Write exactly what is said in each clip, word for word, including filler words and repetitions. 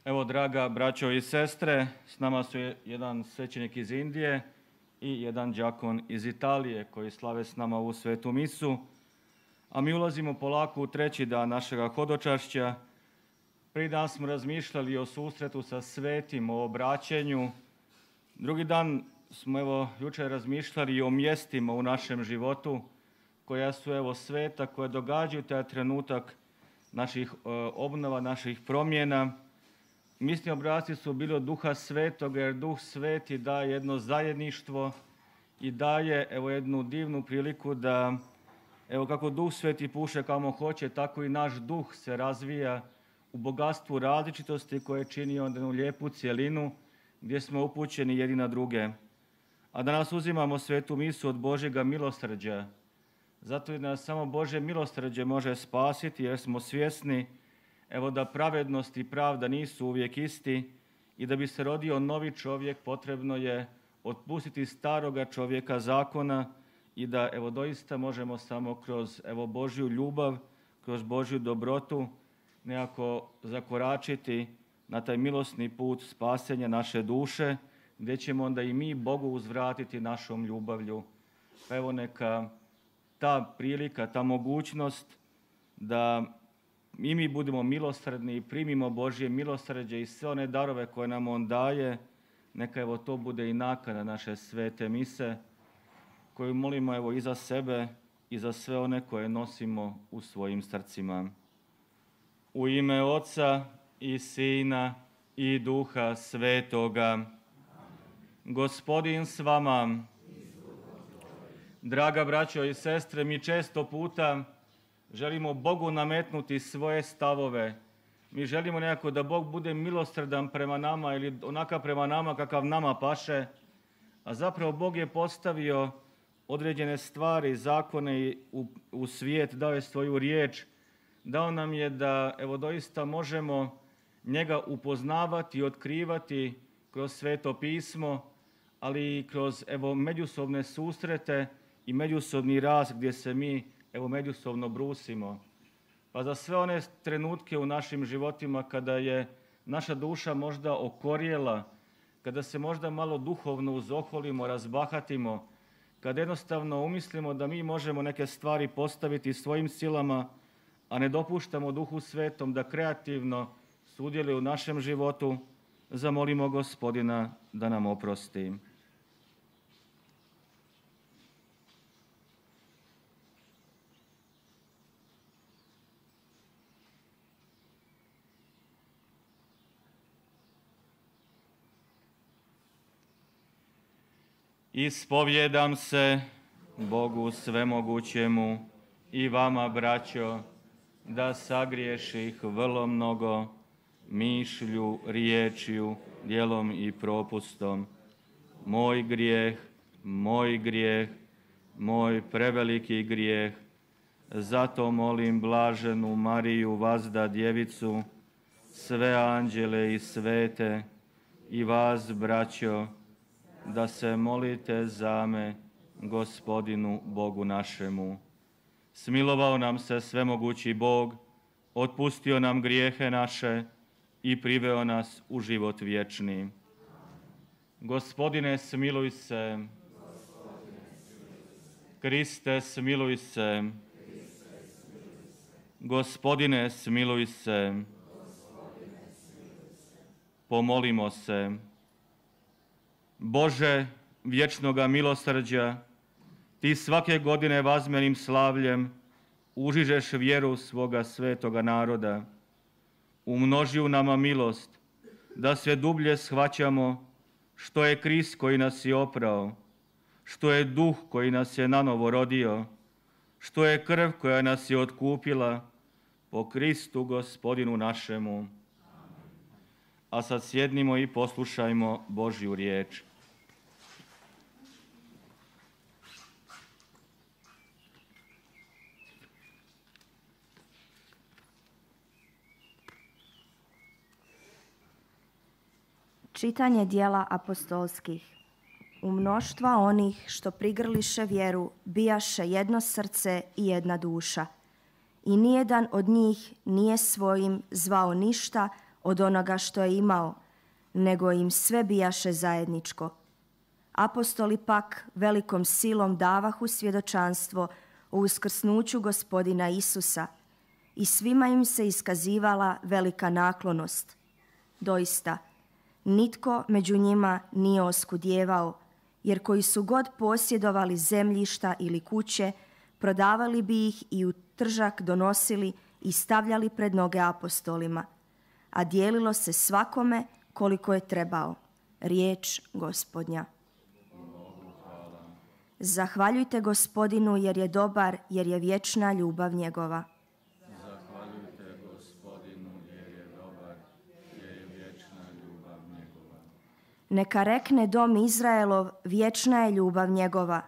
Evo, draga braćo i sestre, s nama su jedan svećenik iz Indije i jedan đakon iz Italije koji slave s nama u svetu misu. A mi ulazimo polako u treći dan našega hodočašća. Prvi dan smo razmišljali o susretu sa svetim, o obraćenju. Drugi dan smo evo jučer razmišljali o mjestima u našem životu koja su evo sveta, koje događaju taj trenutak naših e, obnova, naših promjena. Misli obrasci su bili od Duha Svetoga, jer Duh Sveti daje jedno zajedništvo i daje evo jednu divnu priliku da evo kako Duh Sveti puše kamo hoće, tako i naš duh se razvija u bogatstvu različitosti koje čini onda jednu lijepu cjelinu gdje smo upućeni jedni na druge. A danas uzimamo svetu misu od Božjega milosrđa. Zato i nas samo Božje milosrđe može spasiti, jer smo svjesni evo da pravednost i pravda nisu uvijek isti i da bi se rodio novi čovjek potrebno je otpustiti staroga čovjeka zakona i da evo doista možemo samo kroz evo Božju ljubav, kroz Božju dobrotu nekako zakoračiti na taj milosni put spasenja naše duše, gdje ćemo onda i mi Bogu uzvratiti našom ljubavlju. Pa evo neka ta prilika, ta mogućnost da i mi budemo milosrdni i primimo Božje milosrđe i sve one darove koje nam On daje, neka evo to bude i nakana naše svete mise, koju molimo evo i za sebe i za sve one koje nosimo u svojim srcima. U ime Oca i Sina i Duha Svetoga. Gospodin s vama. Draga braćo i sestre, mi često puta želimo Bogu nametnuti svoje stavove. Mi želimo nekako da Bog bude milosrdan prema nama ili onakav prema nama kakav nama paše, a zapravo Bog je postavio određene stvari, zakone u, u svijet, dao je svoju riječ, dao nam je da evo doista možemo njega upoznavati i otkrivati kroz Sveto pismo, ali i kroz evo međusobne susrete i međusobni rast gdje se mi evo međusobno brusimo. Pa za sve one trenutke u našim životima kada je naša duša možda okorjela, kada se možda malo duhovno uzoholimo, razbahatimo, kada jednostavno umislimo da mi možemo neke stvari postaviti svojim silama, a ne dopuštamo Duhu Svetom da kreativno sudjeluje u našem životu, zamolimo Gospodina da nam oprosti. Ispovjedam se Bogu svemogućemu i vama, braćo, da sagriješih vrlo mnogo mišlju, riječju, djelom i propustom. Moj grijeh, moj grijeh, moj preveliki grijeh. Zato molim blaženu Mariju, vazda djevicu, sve anđele i svete i vas, braćo, da se molite za me Gospodinu Bogu našemu. Smilovao nam se svemogući Bog, otpustio nam grijehe naše i priveo nas u život vječni. Gospodine, smiluj se. Kriste, smiluj se. Gospodine, smiluj se. Pomolimo se. Bože, vječnoga milosrđa, Ti svake godine vazmenim slavljem užižeš vjeru svoga svetoga naroda. Umnoži u nama milost, da sve dublje shvaćamo što je Krist koji nas je oprao, što je Duh koji nas je nanovo rodio, što je krv koja nas je otkupila po Kristu Gospodinu našemu. A sad sjednimo i poslušajmo Božju riječ. Čitanje dijela apostolskih. U mnoštva onih što prigrliše vjeru bijaše jedno srce i jedna duša. I nijedan od njih nije svojim zvao ništa od onoga što je imao, nego im sve bijaše zajedničko. Apostoli pak velikom silom davahu svjedočanstvo o uskrsnuću Gospodina Isusa i svima im se iskazivala velika naklonost. Doista, nitko među njima nije oskudijevao, jer koji su god posjedovali zemljišta ili kuće, prodavali bi ih i u tržak donosili i stavljali pred noge apostolima, a dijelilo se svakome koliko je trebao. Riječ Gospodnja. Zahvaljujte Gospodinu jer je dobar, jer je vječna ljubav njegova. Zahvaljujte Gospodinu jer je dobar, jer je vječna ljubav njegova. Neka rekne dom Izraelov, vječna je ljubav njegova.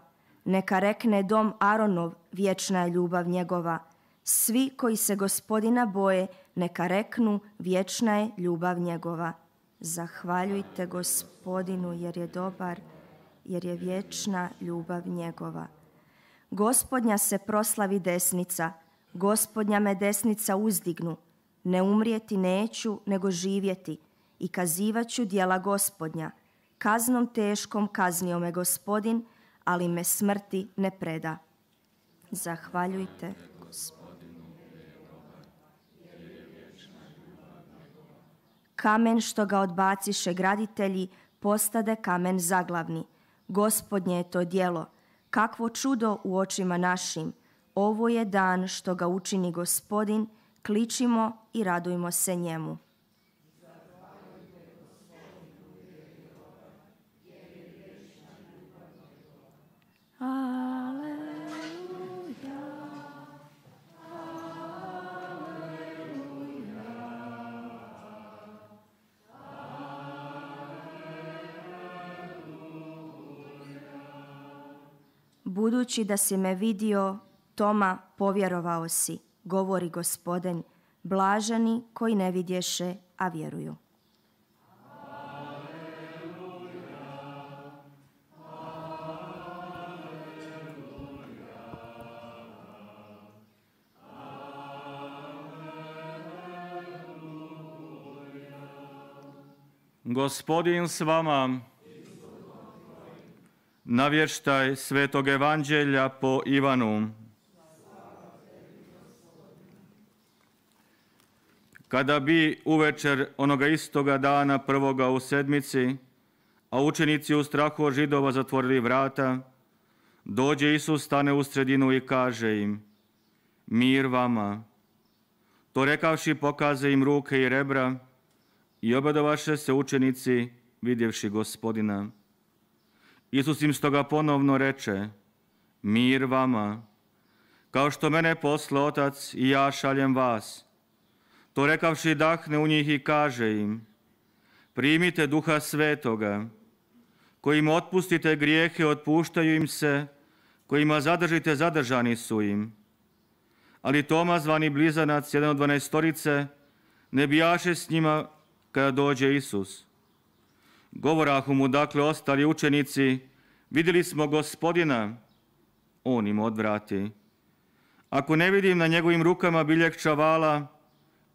Neka rekne dom Aronov, vječna je ljubav njegova. Svi koji se Gospodina boje, neka reknu, vječna je ljubav njegova. Zahvaljujte Gospodinu jer je dobar, jer je vječna ljubav njegova. Gospodnja se proslavi desnica, Gospodnja me desnica uzdignu. Ne umrijeti neću, nego živjeti i kazivat ću djela Gospodnja. Kaznom teškom kaznio me Gospodin, ali me smrti ne preda. Zahvaljujte Gospodinu. Kamen što ga odbaciše graditelji, postade kamen zaglavni. Gospodnje je to djelo, kakvo čudo u očima našim. Ovo je dan što ga učini Gospodin, kličimo i radujmo se njemu. Budući da si me vidio, Toma, povjerovao si, govori Gospodin, blaženi koji ne vidješe, a vjeruju. Gospodin s vama. Navještaj Svetog Evanđelja po Ivanu. Kada bi uvečer onoga istoga dana prvoga u sedmici, a učenici u strahu od Židova zatvorili vrata, dođe Isus, stane u sredinu i kaže im: mir vama. To rekavši pokaze im ruke i rebra i obradovaše se učenici vidjevši Gospodina. Isus im stoga ponovno reče: mir vama. Kao što mene poslao Otac i ja šaljem vas. To rekavši dahne u njih i kaže im: primite Duha Svetoga. Kojim otpustite grijehe, otpuštaju im se, kojima zadržite, zadržani su im. Ali Toma, zvani Blizanac, jedan od dvanaestorice, ne bijaše s njima kada dođe Isus. Govorahu mu dakle ostali učenici: vidjeli smo Gospodina. On im odvrati: ako ne vidim na njegovim rukama biljeg čavala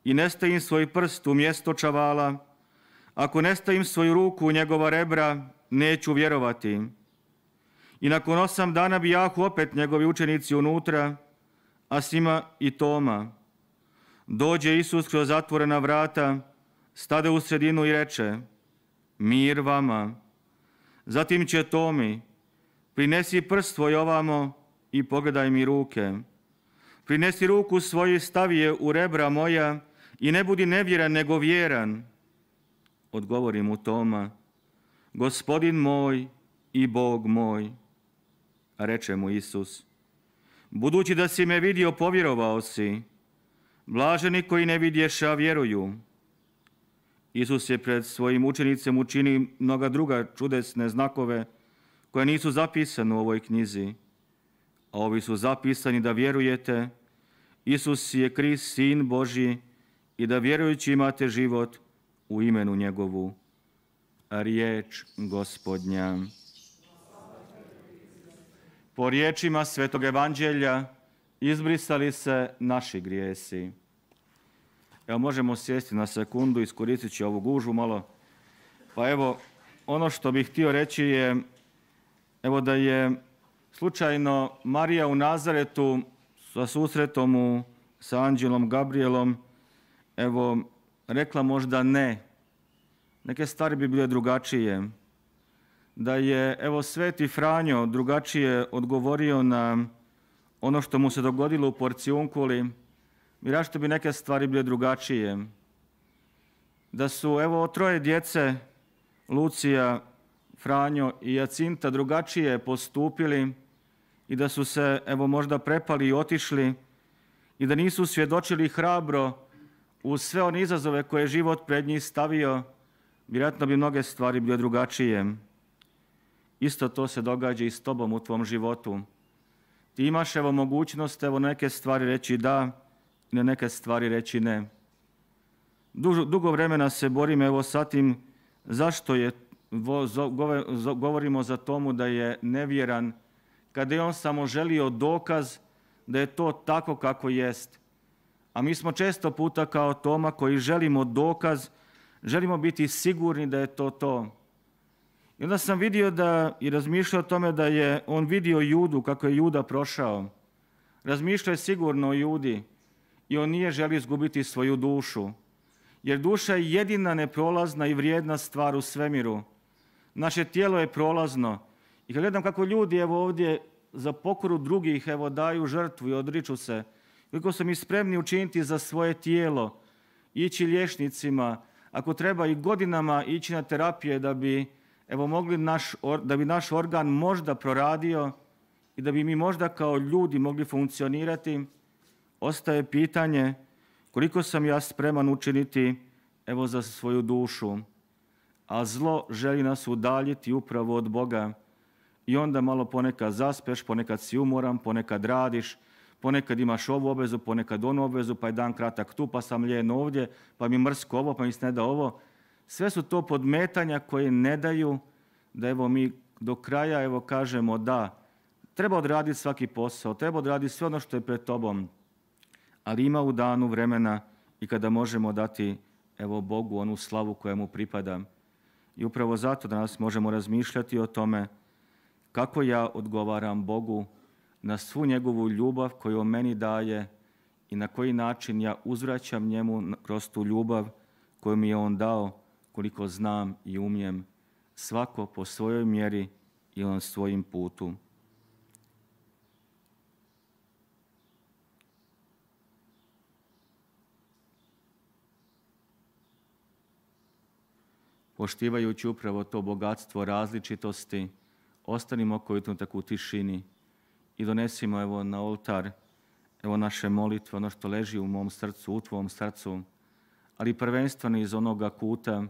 i ne stavim svoj prst u mjesto čavala, ako ne stavim svoju ruku u njegova rebra, neću vjerovati. I nakon osam dana bijahu opet njegovi učenici unutra, a s njima i Toma. Dođe Isus kroz zatvorena vrata, stade u sredinu i reče: mir vama. Zatim će Tomi: prinesi prst svoj ovamo i pogledaj mi ruke. Prinesi ruku svoju i stavi je u rebra moja i ne budi nevjeran nego vjeran. Odgovori mu Toma: Gospodin moj i Bog moj. A reče mu Isus: budući da si me vidio, povjerovao si. Blaženi koji ne vidješe, a vjeruju. Isus je pred svojim učenicem učinio mnoga druga čudesne znakove koje nisu zapisane u ovoj knjizi. A ovi su zapisani da vjerujete: Isus je Krist, Sin Božji, i da vjerujući imate život u imenu njegovu. Riječ Gospodnja. Po riječima Svetog Evanđelja izbrisali se naši grijesi. Evo, možemo sjesti na sekundu, iskoristit ću ovu gužvu malo. Pa evo, ono što bih htio reći je, evo da je slučajno Marija u Nazaretu sa susretom u, sa anđelom Gabrielom, evo, rekla možda ne. Neke stvari bi bile drugačije. Da je, evo, sveti Franjo drugačije odgovorio na ono što mu se dogodilo u Porcijunkuli, vjerojatno bi neke stvari bile drugačije. Da su, evo, troje djece, Lucija, Franjo i Jacinta, drugačije postupili i da su se, evo, možda prepali i otišli i da nisu svjedočili hrabro uz sve one izazove koje je život pred njih stavio, vjerojatno bi mnoge stvari bile drugačije. Isto to se događa i s tobom u tvom životu. Ti imaš, evo, mogućnost, evo, neke stvari reći da i na neke stvari reći ne. Dugo, dugo vremena se borim, evo, sa tim zašto je, govorimo za tomu da je nevjeran, kada je on samo želio dokaz da je to tako kako jest. A mi smo često puta kao Toma koji želimo dokaz, želimo biti sigurni da je to to. I onda sam vidio da i razmišljao o tome da je on vidio Judu, kako je Juda prošao. Razmišljao je sigurno o Judi i on nije želio izgubiti svoju dušu. Jer duša je jedina neprolazna i vrijedna stvar u svemiru. Naše tijelo je prolazno. I kad gledam kako ljudi, evo, ovdje za pokoru drugih, evo, daju žrtvu i odriču se, koliko su mi spremni učiniti za svoje tijelo, ići liječnicima, ako treba i godinama ići na terapije da bi, evo, mogli naš, da bi naš organ možda proradio i da bi mi možda kao ljudi mogli funkcionirati, ostaje pitanje koliko sam ja spreman učiniti, evo, za svoju dušu. A zlo želi nas udaljiti upravo od Boga. I onda malo ponekad zaspeš, ponekad si umoran, ponekad radiš, ponekad imaš ovu obvezu, ponekad onu obvezu, pa je dan kratak tu, pa sam lijen ovdje, pa mi mrsko ovo, pa mi se ne da ovo. Sve su to podmetanja koje ne daju da, evo, mi do kraja, evo, kažemo da treba odraditi svaki posao, treba odraditi sve ono što je pred tobom, ali ima u danu vremena i kada možemo dati, evo, Bogu onu slavu koja mu pripada. I upravo zato danas možemo razmišljati o tome kako ja odgovaram Bogu na svu njegovu ljubav koju on meni daje i na koji način ja uzvraćam njemu kroz tu ljubav koju mi je on dao, koliko znam i umijem, svako po svojoj mjeri i on svojim putu. Poštivajući upravo to bogatstvo različitosti, ostanimo koji trenutak u tišini i donesimo, evo, na oltar, evo, naše molitve, ono što leži u mom srcu, u tvom srcu, ali prvenstveno iz onoga kuta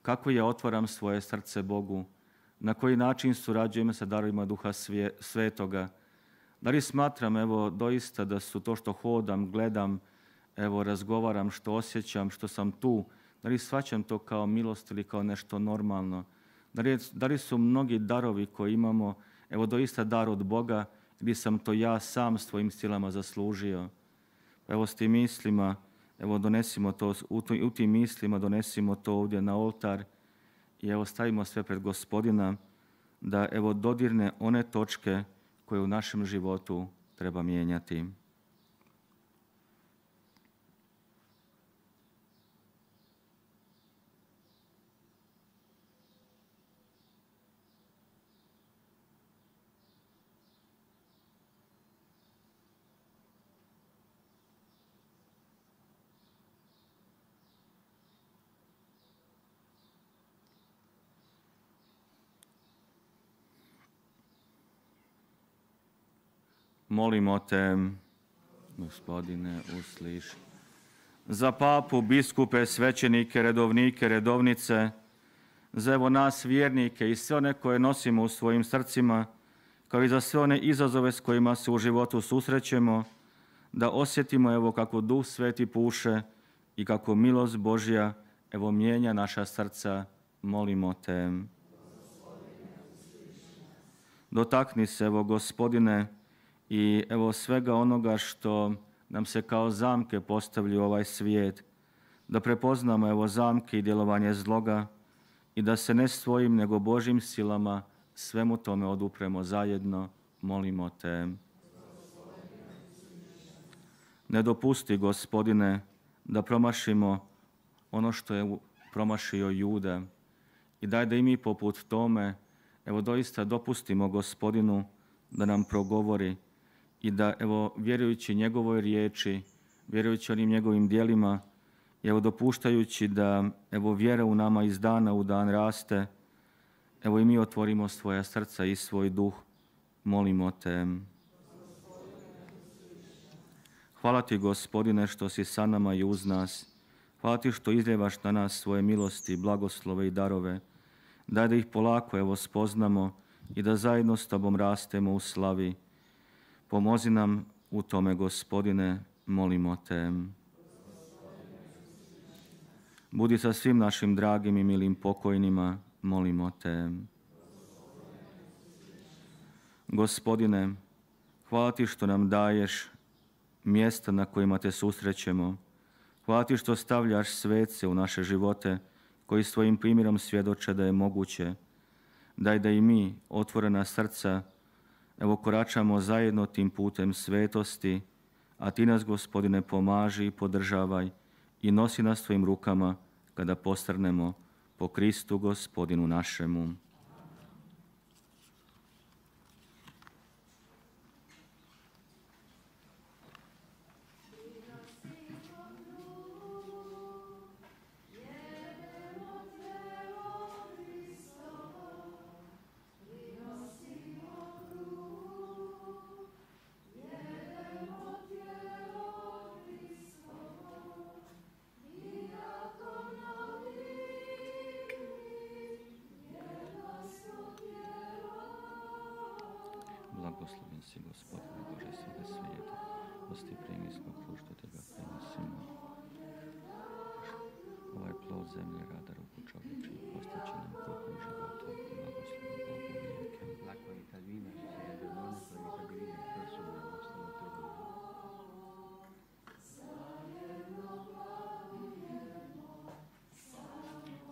kako ja otvaram svoje srce Bogu, na koji način surađujem sa darovima Duha Svetoga. Da li smatram, evo, doista da su to što hodam, gledam, evo, razgovaram, što osjećam, što sam tu, da li shvaćam to kao milost ili kao nešto normalno? Da li, da li su mnogi darovi koje imamo, evo, doista dar od Boga ili sam to ja sam svojim silama zaslužio? Evo, s tim mislima, evo, donesimo to, u, u tim mislima donesimo to ovdje na oltar i, evo, stavimo sve pred Gospodina da, evo, dodirne one točke koje u našem životu treba mijenjati. Molimo te, Gospodine, usliši. Za papu, biskupe, svećenike, redovnike, redovnice, za, evo, nas vjernike i sve one koje nosimo u svojim srcima, kao i za sve one izazove s kojima se u životu susrećemo, da osjetimo, evo, kako Duh Sveti puše i kako milost Božja, evo, mijenja naša srca. Molimo te. Dotakni se, evo, Gospodine, i, evo, svega onoga što nam se kao zamke postavlja u ovaj svijet. da prepoznamo evo zamke i djelovanje zloga i da se ne svojim nego Božim silama svemu tome odupremo zajedno, molimo te. Ne dopusti, Gospodine, da promašimo ono što je promašio Juda i daj da i mi poput tome, evo doista dopustimo Gospodinu da nam progovori i da, evo, vjerujući njegovoj riječi, vjerujući onim njegovim djelima, evo dopuštajući da, evo, vjera u nama iz dana u dan raste, evo i mi otvorimo svoja srca i svoj duh, molimo te. Hvala ti, Gospodine, što si sa nama i uz nas. Hvala ti što izljevaš na nas svoje milosti, blagoslove i darove. Daj da ih polako, evo, spoznamo i da zajedno s tobom rastemo u slavi. Pomozi nam u tome, Gospodine, molimo te. Budi sa svim našim dragim i milim pokojnima, molimo te. Gospodine, hvala ti što nam daješ mjesta na kojima te susrećemo. Hvala ti što stavljaš svece u naše živote koji svojim primjerom svjedoče da je moguće. Daj da i mi, otvorena srca, evo koračamo zajedno tim putem svetosti, a ti nas, Gospodine, pomaži i podržavaj i nosi nas svojim rukama kada postrnemo po Kristu Gospodinu našemu. Blagosloven si, Gospodine Bože svega svijeta, osti premijskog krušta tega prenosimo. Ovaj plod zemlje rada ruku čovječih, postaće nam kruhom života, blagosloven Bogu vijeke. L'acqua di Talvina si rende monaco e vitabiline il corso della nostra natura.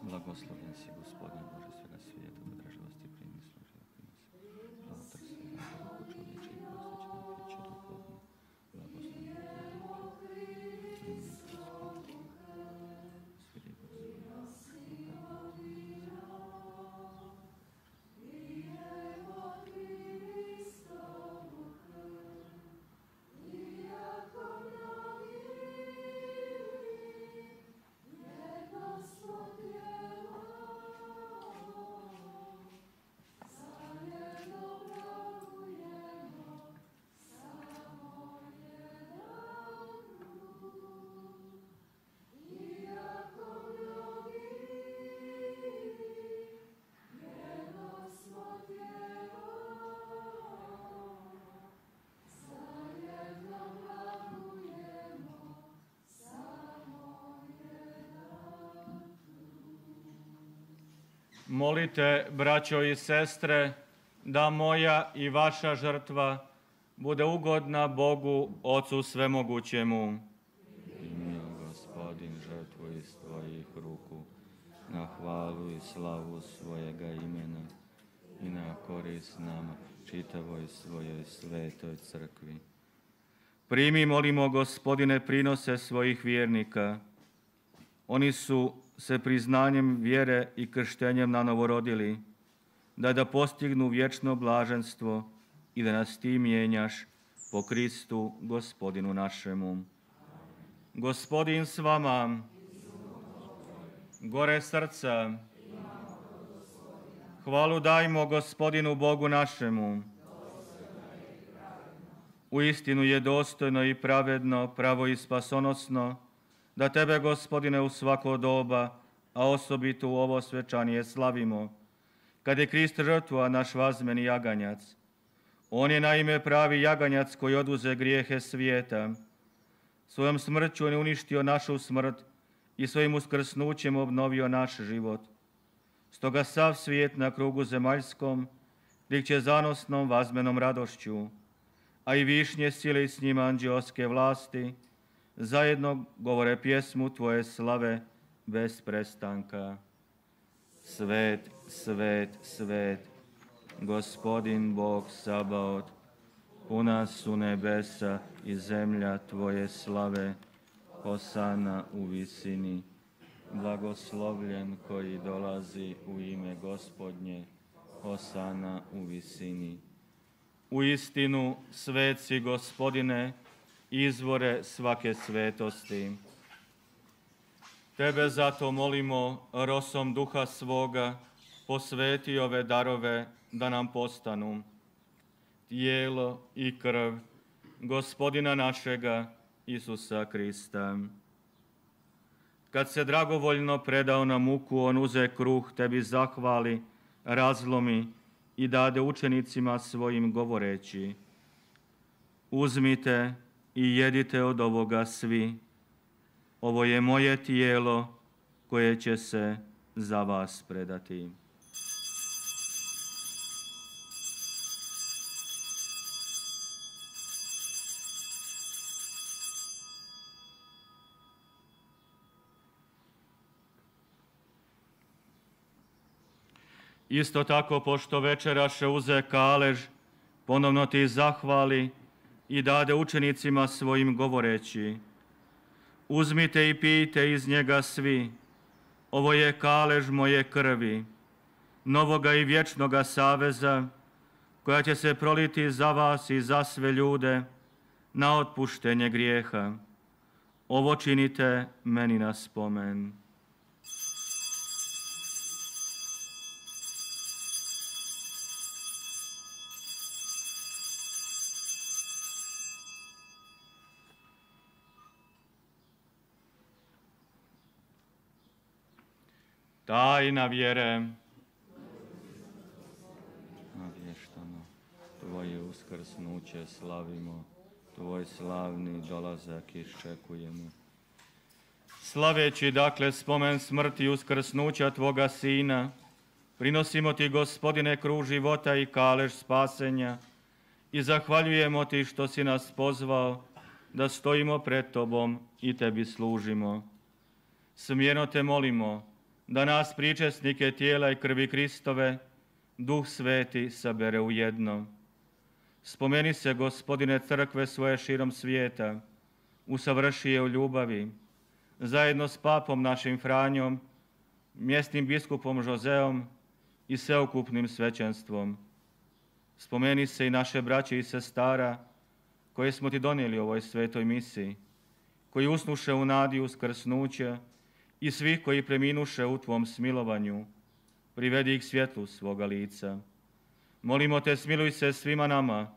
Blagosloven si, Gospodine Bože svega svijeta, odraživosti primi služila prinos. Zlatar se rada ruku čovječih, postaće nam piće duhovno, blagosloven Bogu vijeke. Primi Gospodine, sviri Molite, braćo i sestre, da moja i vaša žrtva bude ugodna Bogu, Ocu Svemogućemu. Primi, Gospodin, žrtvu iz tvojih ruku, na hvalu i slavu svojega imena i na korist nama, čitavoj svojoj svetoj crkvi. Primi, molimo, Gospodine, prinose svojih vjernika. Oni su se priznanjem vjere i krštenjem nanovo rodili, da da postignu vječno blaženstvo i da nas ti mijenjaš po Kristu Gospodinu našemu. Gospodin s vama, gore srca, hvalu dajmo Gospodinu Bogu našemu. Uistinu je dostojno i pravedno, pravo i spasonosno, da tebe, Gospodine, u svako doba, a osobito u ovo svečanije slavimo, kad je Krist žrtva naš vazmeni jaganjac. On je naime pravi jaganjac koji oduze grijehe svijeta. Svojom smrću on je uništio našu smrt i svojim uskrsnućem obnovio naš život. Stoga sav svijet na krugu zemaljskom klikće zanosnom vazmenom radošću, a i višnje sile i s njima anđeoske vlasti zajedno govore pjesmu Tvoje slave bez prestanka. Svet, svet, svet, Gospodin Bog Sabaot, puna su nebesa i zemlja Tvoje slave, Hosana u visini. Blagoslovljen koji dolazi u ime Gospodnje, Hosana u visini. U istinu, svet si, Gospodine, izvore svake svetosti. Tebe zato molimo, rosom duha svoga, posveti ove darove da nam postanu tijelo i krv Gospodina našega Isusa Krista. Kad se dragovoljno predao na muku, on uze kruh, tebi zahvali, razlomi i dade učenicima svojim govoreći: uzmite i jedite od ovoga svi. Ovo je moje tijelo koje će se za vas predati. Isto tako, pošto večeraše uze kalež, ponovno ti zahvali i dade učenicima svojim govoreći: uzmite i pijte iz njega svi. Ovo je kalež moje krvi, novoga i vječnoga saveza, koja će se proliti za vas i za sve ljude na otpuštenje grijeha. Ovo činite meni na spomen. Tajna vjere. Navještano, Tvoje uskrsnuće slavimo, Tvoj slavni dolazak iščekujemo. Slaveći dakle spomen smrti i uskrsnuća Tvoga Sina, prinosimo Ti, Gospodine, kruh života i kalež spasenja i zahvaljujemo Ti što si nas pozvao da stojimo pred Tobom i Tebi služimo. Smjerno Te molimo da nas, pričesnike tijela i krvi Kristove, Duh Sveti sabere u jedno. Spomeni se, Gospodine, crkve svoje širom svijeta, usavrši je u ljubavi, zajedno s papom našim Franjom, mjesnim biskupom Žozeom i sveukupnim svećenstvom. Spomeni se i naše braće i sestara koje smo Ti donijeli u ovoj svetoj misiji, koji usnuše u nadi uskrsnuće, i svih koji preminuše u Tvom smilovanju, privedi ih svjetlu svoga lica. Molimo Te, smiluj se svima nama,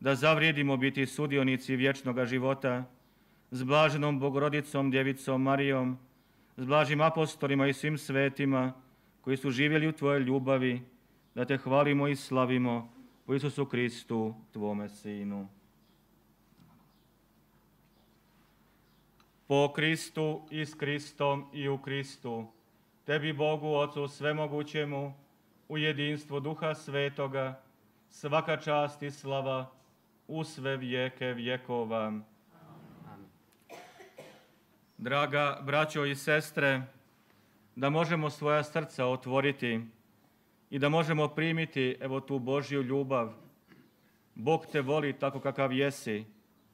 da zavrijedimo biti sudionici vječnoga života s blaženom Bogorodicom, Djevicom Marijom, s blažim apostolima i svim svetima koji su živjeli u Tvojoj ljubavi, da Te hvalimo i slavimo po Isusu Kristu, Tvome Sinu. Po Kristu i s Kristom i u Kristu, Tebi, Bogu Ocu svemogućemu, u jedinstvu Duha Svetoga, svaka čast i slava u sve vijeke vjekova. Amen. Draga braćo i sestre, da možemo svoja srca otvoriti i da možemo primiti evo tu Božju ljubav. Bog te voli tako kakav jesi.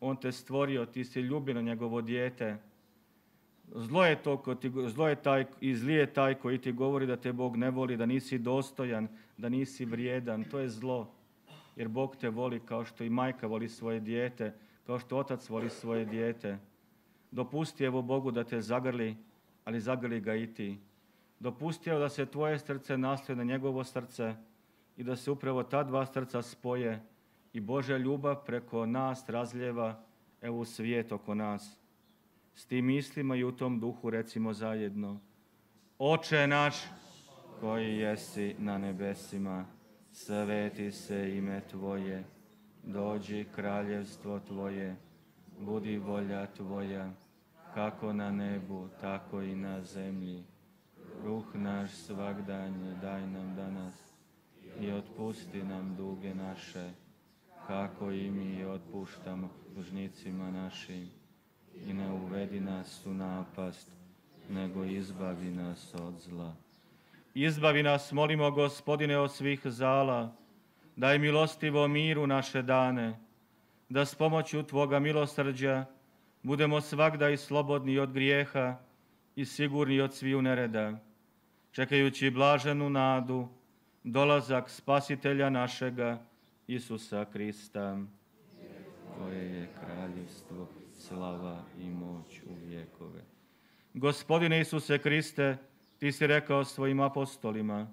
On te stvorio, ti si ljubljeno njegovo dijete. Zlo je to ko ti, zlo je taj i zli je taj koji ti govori da te Bog ne voli, da nisi dostojan, da nisi vrijedan. To je zlo. Jer Bog te voli kao što i majka voli svoje dijete, kao što otac voli svoje dijete. Dopusti evo Bogu da te zagrli, ali zagrli ga i ti. Dopusti evo da se tvoje srce naslije na njegovo srce i da se upravo ta dva srca spoje i Božja ljubav preko nas razljeva evo u svijet oko nas. S tim mislima i u tom duhu recimo zajedno: Oče naš koji jesi na nebesima, sveti se ime Tvoje, dođi kraljevstvo Tvoje, budi volja Tvoja, kako na nebu, tako i na zemlji. Kruh naš svagdanji daj nam danas i otpusti nam duge naše, kako i mi otpuštamo dužnicima našim. i ne uvedi nas u napast, nego izbavi nas od zla. Izbavi nas, molimo, Gospodine, od svih zala, daj milostivo miru naše dane, da s pomoću Tvoga milosrđa budemo svagda slobodni od grijeha i sigurni od sviju nereda, čekajući blaženu nadu, dolazak Spasitelja našega, Isusa Krista. Tvoje je kraljevstvo, slava i moć u vjekove. Gospodine Isuse Kriste, Ti si rekao svojim apostolima,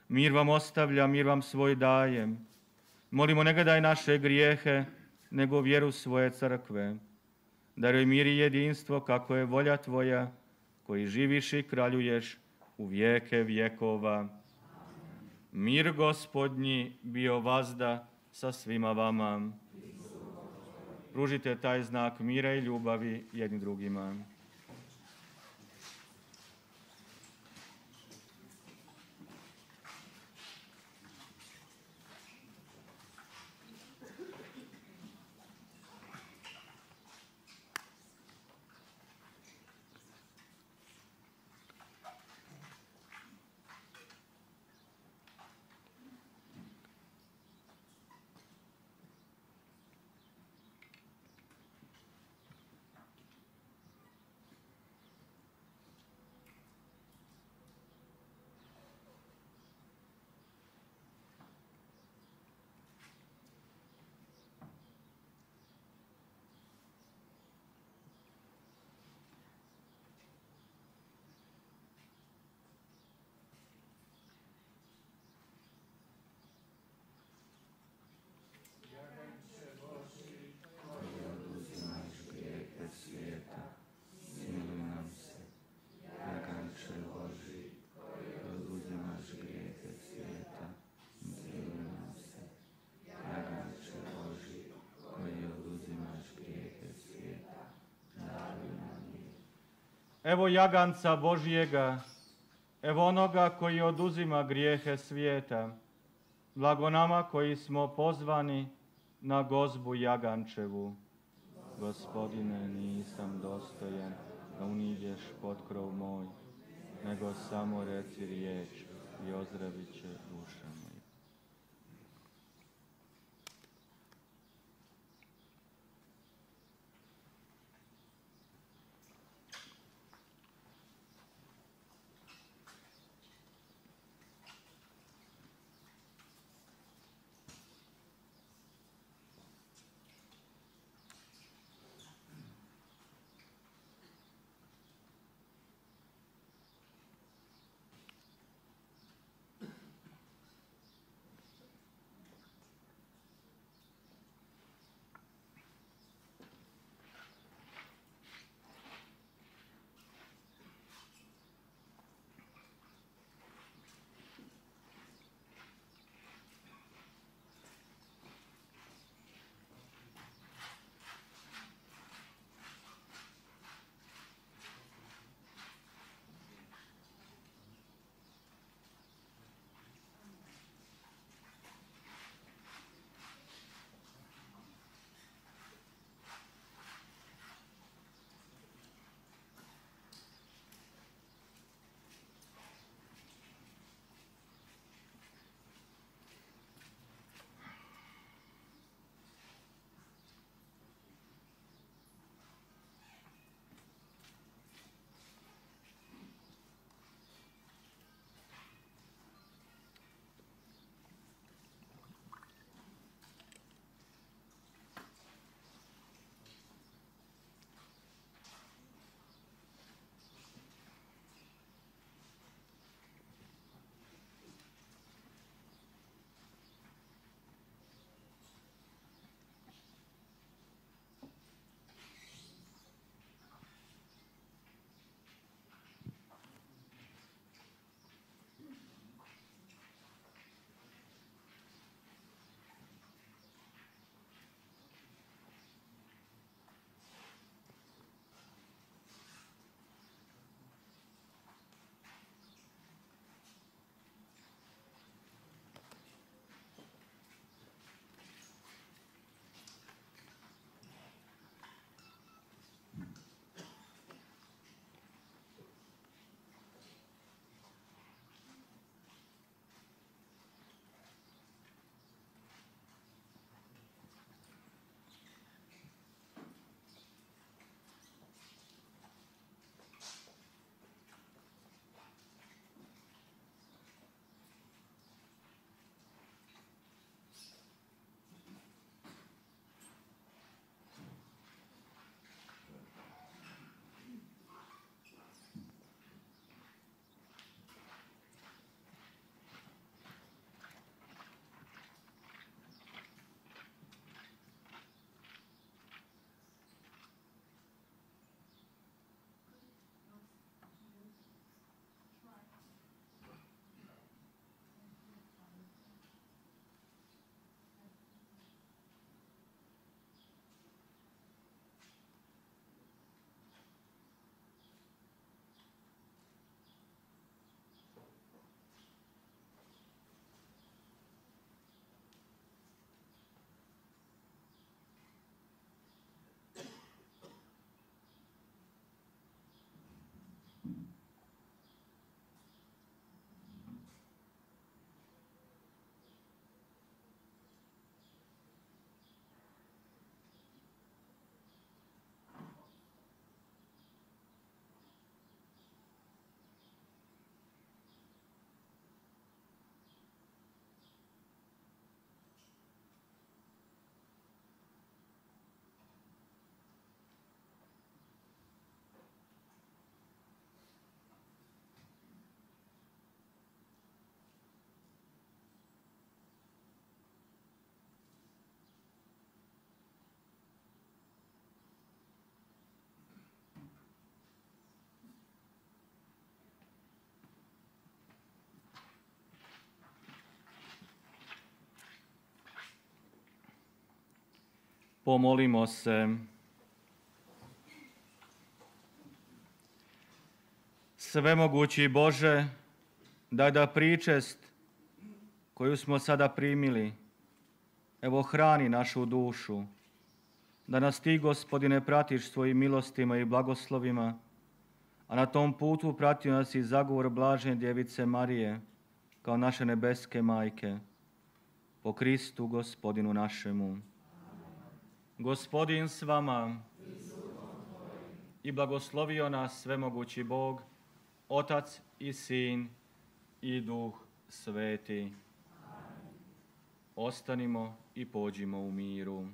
mir vam ostavljam, mir vam svoj dajem. Molimo, ne gledaj naše grijehe, nego vjeru svoje crkve. Daruj mir i jedinstvo, kako je volja Tvoja, koji živiš i kraljuješ u vijeke vjekova. Mir Gospodnji bio vazda sa svima vama. Pružite taj znak mira i ljubavi jedni drugima. Evo jaganca Božjega, evo onoga koji oduzima grijehe svijeta. Blago nama koji smo pozvani na gozbu jagančevu. Gospodine, nisam dostojan da uniđeš pod krov moj, nego samo reci riječ i ozdravit će duša moja. Pomolimo se. Svemogući Bože, daj da pričest koju smo sada primili, evo hrani našu dušu, da nas ti, Gospodine, pratiš svojim milostima i blagoslovima, a na tom putu pratio nas i zagovor blažene Djevice Marije, kao naše nebeske majke, po Kristu Gospodinu našemu. Gospodin s vama i blagoslovio nas svemogući Bog, Otac i Sin i Duh Sveti. Ostanimo i pođimo u miru.